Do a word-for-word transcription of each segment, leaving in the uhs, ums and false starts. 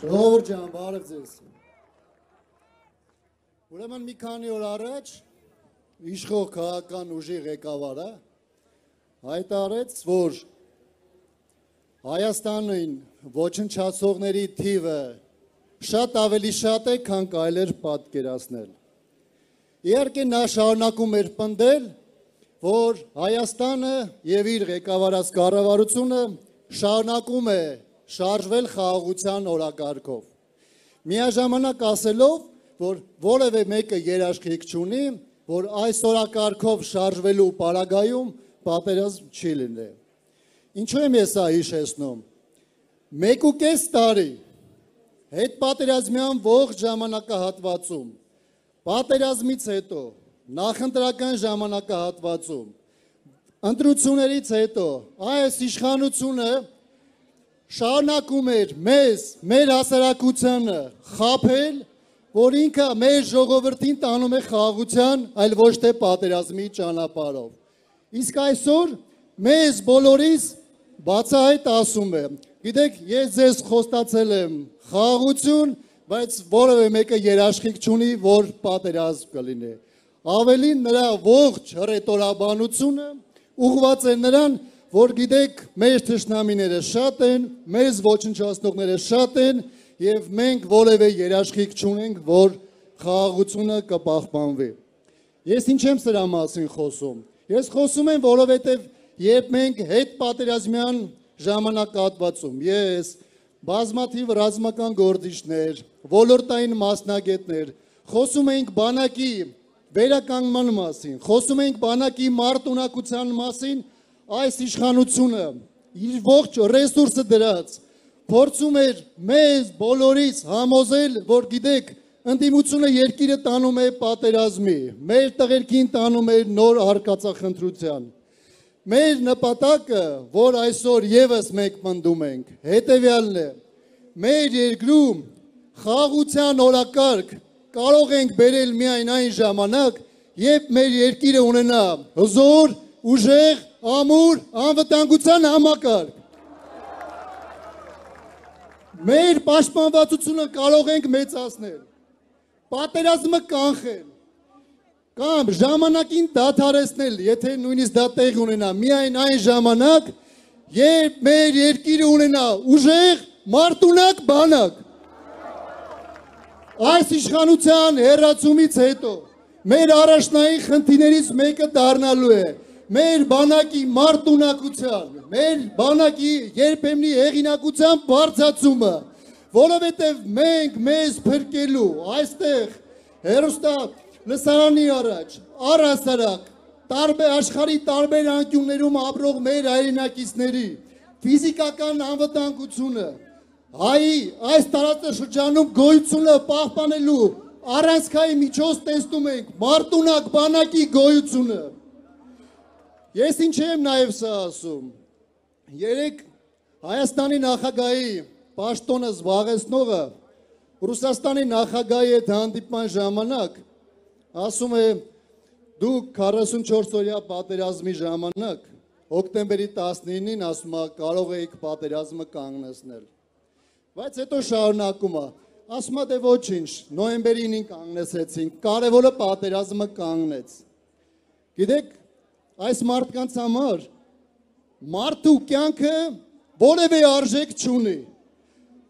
Ժողովուրդ ջան, բարև ձեզ։ Ուրեմն մի քանի օր առաջ իշխող քաղաքական ուժի ղեկավարը հայտարարեց, որ Հայաստանին ոչնչացողների թիվը շատ ավելի շատ է, քան կարելի էր պատկերացնել։ Իհարկե նա շարունակում էր պնդել, որ Հայաստանը եւ իր ղեկավարած կառավարությունը շարունակում է շարժվել խաղաղության օրակարգով։ Միաժամանակ ասելով, որ որևէ մեկը երաշխիք չունի, որ այս օրակարգով շարժվելու պարագայում պատերազմ չի լինի։ Ինչու եմ ես սա հիշեցնում։ Մեկ ու կես տարի հետպատերազմյան ողջ ժամանակահատվածում, պատերազմից հետո, նախընտրական ժամանակահատվածում, ընտրություններից հետո այս իշխանությունը շարունակում էր մեզ, մեր հասարակությանը խաբել, որ ինքը մեր ժողովրդին տանում է խաղաղության, այլ ոչ թե պատերազմի ճանապարհով։ Իսկ այսօր մեզ բոլորիս բացահայտ ասում է, գիտեք, ես ձեզ խոստացել եմ խաղաղություն, բայց որևէ մեկը երաշխիք չունի, որ պատերազմ կլինի։ Ավելին նրա ողջ հռետորաբանությունը ուղղված է նրան, որ գիտեք, մեր թշնամիները շատ են, մեզ ոչնչացնողները շատ են, եւ մենք որևէ երաշխիք չունենք, որ խաղաղությունը կպահպանվի։ Ես ինչ եմ սրա մասին խոսում։ Ես խոսում եմ, որովհետեւ երբ մենք հետպատերազմյան ժամանակահատվածում ես բազմաթիվ ռազմական գործիչներ, ոլորտային մասնագետներ, խոսում ենք բանակի վերականգնման մասին, խոսում ենք բանակի մարտունակության մասին, այս իշխանությունը իր ողջ ռեսուրսը դրած փորձում էր մեզ բոլորիս համոզել, որ գիտեք, ընդդիմությունը երկիրը տանում է պատերազմի, մեր տղերքին տանում է նոր արկածախնդրության։ Մեր նպատակը, որ այսօր եւս մենք պնդում ենք, հետեւյալն է. մեր երկրում խաղաղության օրակարգ կարող ենք բերել միայն այն ժամանակ, երբ մեր երկիրը ունենա հզոր, ուժեղ, ամուր, անվտանգության համակարգ։ Մեր պաշտպանվածությունը կարող ենք մեծացնել, պատերազմը կանխել, կամ ժամանակին դադարեցնել, եթե նույնիսկ դա տեղ ունենա, միայն այն ժամանակ, երբ մեր երկիրը ունենա ուժեղ, մարտունակ բանակ։ Այս իշխանության հեռացումից հետո մեր առաջնային խնդիրներից մեկը դառնալու է մեր բանակի մարտունակության, մեր բանակի երբեմնի հեղինակության բարձրացումը, որովհետև մենք մեզ փրկելու այստեղ հերոստա լսարանի առաջ, առհասարակ, տարբեր աշխարհի տարբեր անկյուններում ապրող մեր հայրենակիցների ֆիզիկական անվտանգությունը, հայի այս տարածաշրջանում գոյությունը պահպանելու առանցքային միջոց տեսնում ենք մարտունակ բանակի գոյությունը։ Ես ինչ եմ նաև սա ասում, երեք Հայաստանի նախագահի պաշտոնը զբաղեցնողը Ռուսաստանի նախագահի հետ հանդիպման ժամանակ ասում է դուք քառասունչորս օրյա պատերազմի ժամանակ հոկտեմբերի տասնինին ասում է կարող էիք պատերազմը կանգնեցնել, բայց հետո շարունակում է, ասում է դե ոչինչ, նոյեմբերին կանգնեցրեցինք, կարևորը պատերազմը կանգնեց։ Գիտեք, այս մարդկանց համար մարդու կյանքը որևէ արժեք չունի։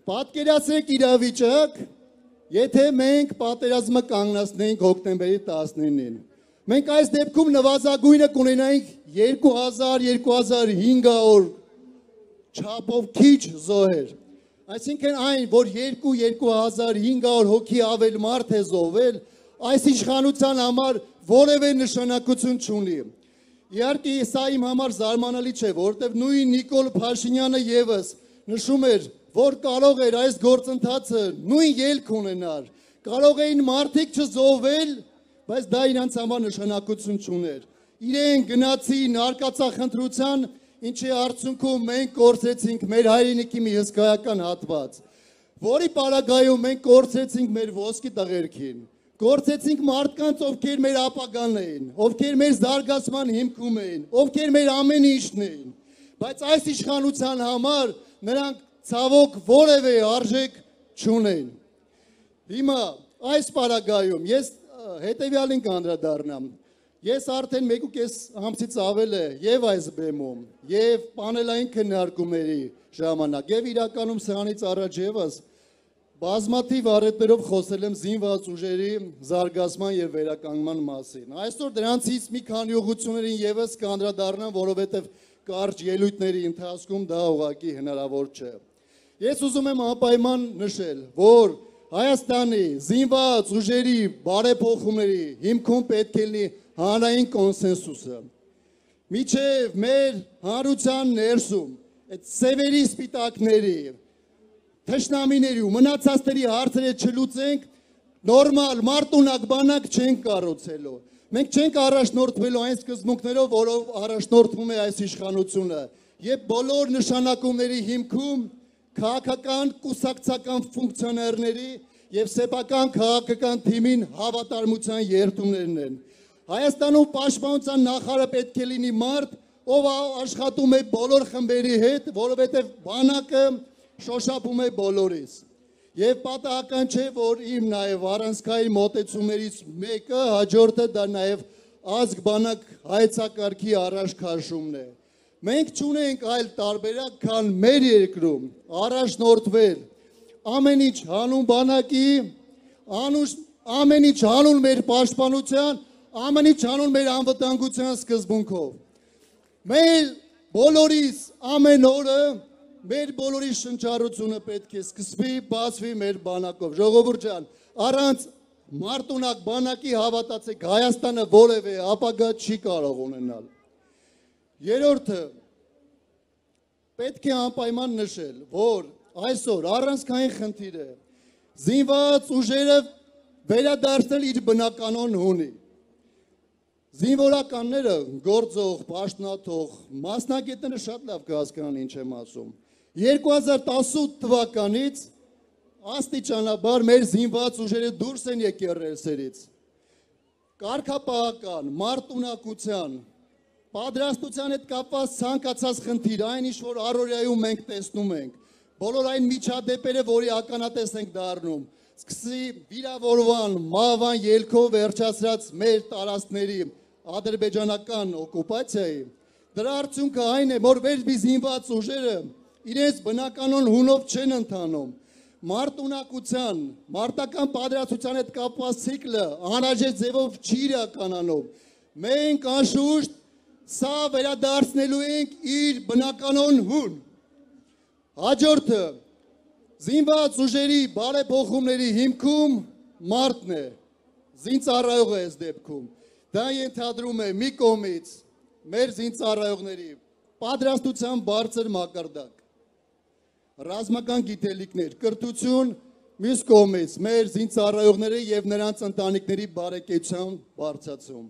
Պատկերացրեք իրավիճակ, եթե մենք պատերազմը կանգնեցնեինք հոկտեմբերի տասնինին։ Մենք այս դեպքում նվազագույնը կունենայինք երկու հազար երկու հազար հինգսուն չափով քիչ զոհեր։ Այսինքն այն, որ երկու երկու հազար հինգսուն հոգի ավել մարդ է զոհվել, այս իշխանության համար որևէ նշանակություն չունի։ Իհարկե սա իմ համար զարմանալի չէ, որովհետև նույն Նիկոլ Փաշինյանը եւս նշում էր, որ կարող էր այս գործընթացը նույն ելք ունենալ, կարող էին մարդիկ չզոհվել, բայց դա իրանց համար նշանակություն չուներ։ Իրեն գնացին արկածախնդրության, ինչի արդյունքում մենք կորցրեցինք մեր հայրենիքի մի հսկայական հատված, որի պարագայում մենք կորցրեցինք մեր ոսկի տղերքին, կորցրեցինք մարդկանց, ովքեր մեր ապագան էին, ովքեր մեր զարգացման հիմքում էին, ովքեր մեր ամեն ինչն էին։ Բայց այս իշխանության համար նրանք ցավոք որևէ արժեք չունեն։ Հիմա այս պարագայում ես հետևյալին կանդրադառնամ։ Ես արդեն մեկ ու կես ամսից ավել է եւ այս բեմում, եւ պանելային քննարկումների ժամանակ, եւ իրականում սրանից առաջ եւս բազմաթիվ առիթներով խոսել եմ զինված ուժերի զարգացման եւ վերականգնման մասին։ Այսօր դրանցից մի քանի ուղղություններին եւս կանդրադառնամ, որովհետեւ կարճ ելույթների ընթացքում դա ուղղակի հնարավոր չէ։ Ես ուզում եմ անպայման նշել, որ Հայաստանի զինված ուժերի բարեփոխումների հիմքում պետք է լինի հանրային կոնսենսուսը։ Միջև մեր հանրության ներսում այդ սևերի սպիտակների, թշնամիների ու մնացածների հարցերը չլուծենք, նորմալ մարտունակ բանակ չենք կառուցելու։ Մենք չենք առաջնորդվելու այն սկզբունքներով, որով առաջնորդվում է այս իշխանությունը, եւ բոլոր նշանակումների հիմքում քաղաքական կուսակցական ֆունկցիոներների եւ սեփական քաղաքական թիմին հավատարմության երդումներն են։ Հայաստանում պաշտպանության նախարարը պետք է լինի մարդ, ով աշխատում է բոլոր խմբերի հետ, որովհետեւ բանակը շոշափում է բոլորից։ Եվ պատահական չէ, որ իմ նաեւ առանցքային մոտեցումներից մեկը հաջորդը դա նաեւ ազգ բանակ հայեցակարգի առաջքաշումն է։ Մենք չունենք այլ տարբերակ, քան մեր երկրում առաջնորդվել ամեն ինչ հանուն բանակի, ամեն ինչ հանուն մեր պաշտպանության, ամեն ինչ հանուն մեր անվտանգության սկզբունքով։ Մեր բոլորիս ամեն օրը մեր բոլորի շնչառությունը պետք է սկսվի, բացվի մեր բանակով։ Ժողովուրդ ջան, առանց մարտունակ բանակի հավատացեք, Հայաստանը որևէ ապագա չի կարող ունենալ։ Երրորդը, պետք է անպայման նշել, որ այսօր առանցքային խնդիր է զինված ուժերը վերադարձնել իր բնականon հունի։ Զինվորականները գործող, պաշտոնաթող, մասնագետները շատ լավ կհասկանան ինչ եմ ասում։ երկու հազար տասնութ թվականից աստիճանաբար մեր զինված ուժերը դուրս են եկել ռելսերից։ Կարգապահական, մարտունակության, պատրաստության հետ կապված ցանկացած խնդիր, այն ինչ որ առօրյայում մենք տեսնում ենք, բոլոր այն միջադեպերը, որի ականատես ենք դառնում, սկսի վիրավորման, մահվան ելքով վերջացրած մեր տարածքների ադրբեջանական օկուպացիայի, դրա արդյունքը այն է, որ մեր զինված ուժերը իրենց բնականon հունով չեն ընթանում։ Մարտունակության, մարտական պատրաստության հետ կապված ցիկլը անհրաժեշտ ձևով չի իրականանում։ Մենք անշուշտ սա վերադարձնելու ենք իր բնականon հուն։ Հաջորդը զինված ուժերի բարեփոխումների հիմքում մարտն է, զինծառայողը այս դեպքում։ Դա ենթադրում է մի կողմից մեր զինծառայողների պատրաստության բարձր մակարդակ, ռազմական գիտելիքներ, կրթություն, մյուս կողմից մեր զինծառայողների եւ նրանց ընտանիքների բարեկեցության բարձրացում։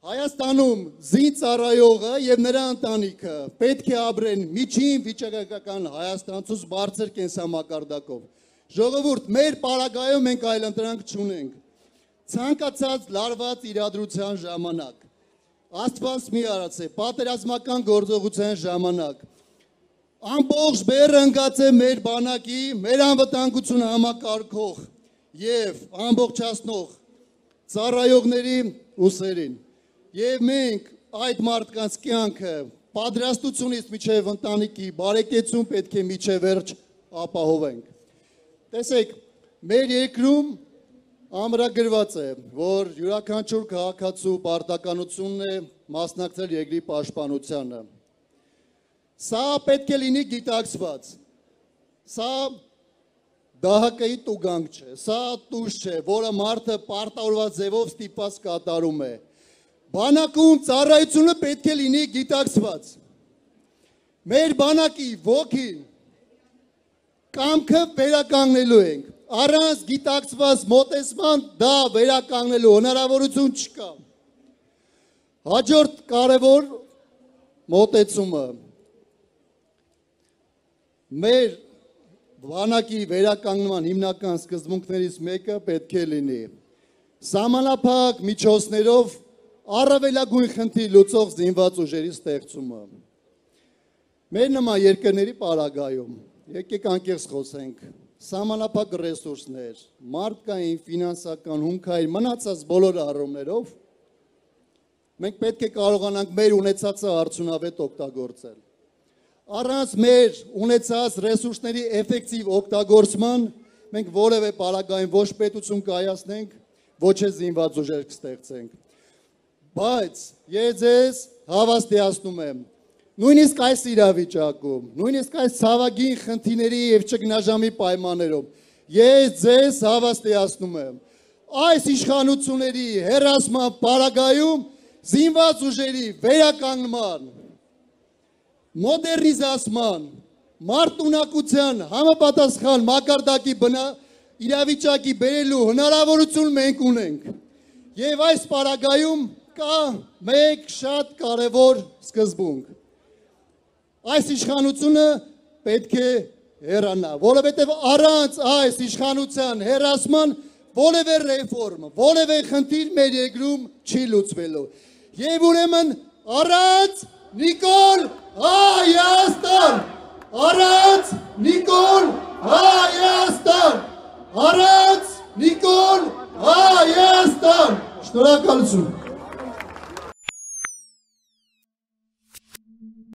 Հայաստանում զինծառայողը եւ նրա ընտանիքը պետք է ապրեն միջին վիճակական Հայաստանցուց բարձր կենսամակարդակով։ Ժողովուրդ, մեր պարագայում մենք այլընտրանք չունենք։ Ցանկացած լարված իրադրության ժամանակ, Աստված մի արած է, պատերազմական գործողության ժամանակ, ամբողջ բեռը ընկած է մեր բանակի, մեր անվտանգությունը համակարգող եւ ամբողջացնող ծառայողների ուսերին։ Եվ մենք այդ մարդկանց կյանքը պատրաստությունից միջև ընտանիքի բարեկեցություն պետք է միջև վերջ ապահովենք։ Տեսեք, մեր երկրում ամրագրված է, որ յուրաքանչյուր քաղաքացու պարտականությունն է մասնակցել երկրի պաշտպանությանը։ Սա պետք է լինի գիտակցված։ Սա դահակայի տուգանք չէ, սա տուժ չէ, որը մարդը պարտավորված ձևով ստիպված կատարում է։ Բանակում ծառայությունը պետք է լինի գիտակցված։ Մեր բանակի ոգին կամքը վերականգնելու ենք։ Առանց գիտակցված մոտեցման դա վերականգնելու հնարավորություն չկա։ Հաջորդ կարևոր մոտեցումը մեր բանակի վերականգնման հիմնական սկզբունքներից մեկը պետք է լինի սահմանափակ միջոցներով առավելագույն խնդիր լուծող զինված ուժերի ստեղծումը։ Մեր նման երկրների պարագայում, եկեք անկեղծ խոսենք, սահմանափակ ռեսուրսներ, մարդկային, ֆինանսական, հումքային, մնացած բոլոր առումներով, մենք պետք է կարողանանք մեր ունեցածը արդյունավետ օգտագործել։ Առանց մեր ունեցած ռեսուրսների էֆեկտիվ օգտագործման, մենք որևէ պարագային ոչ պետություն կայացնենք, ոչ է զինված ուժեր կստեղծենք։ Բայց ես ձեզ հավաստիացնում եմ, նույնիսկ այս իրավիճակում, նույնիսկ այս ցավագին խնդիրների եւ ճգնաժամի պայմաններում, ես ձեզ հավաստիացնում եմ, այս իշխանությունների հերասման պարագայում զինված ուժերի վերականգնման, մոդեռնիզացման, մարդունակության համապատասխան մակարդակի իրավիճակի բերելու հնարավորություն մենք ունենք։ Եվ այս պարագայում կա մեկ շատ կարևոր սկզբունք։ Այս իշխանությունը պետք է հեռանա, որովհետև առանց այս իշխանության հեռացման որևէ ռեֆորմ, որևէ խնդիր մեր երկրում չի լուծվելու։ Եվ ուրեմն առանց Նիկոլ Հայաստան, առանց Նիկոլ Հայաստան, առանց Նիկոլ Հայաստան։ Շնորհակալություն։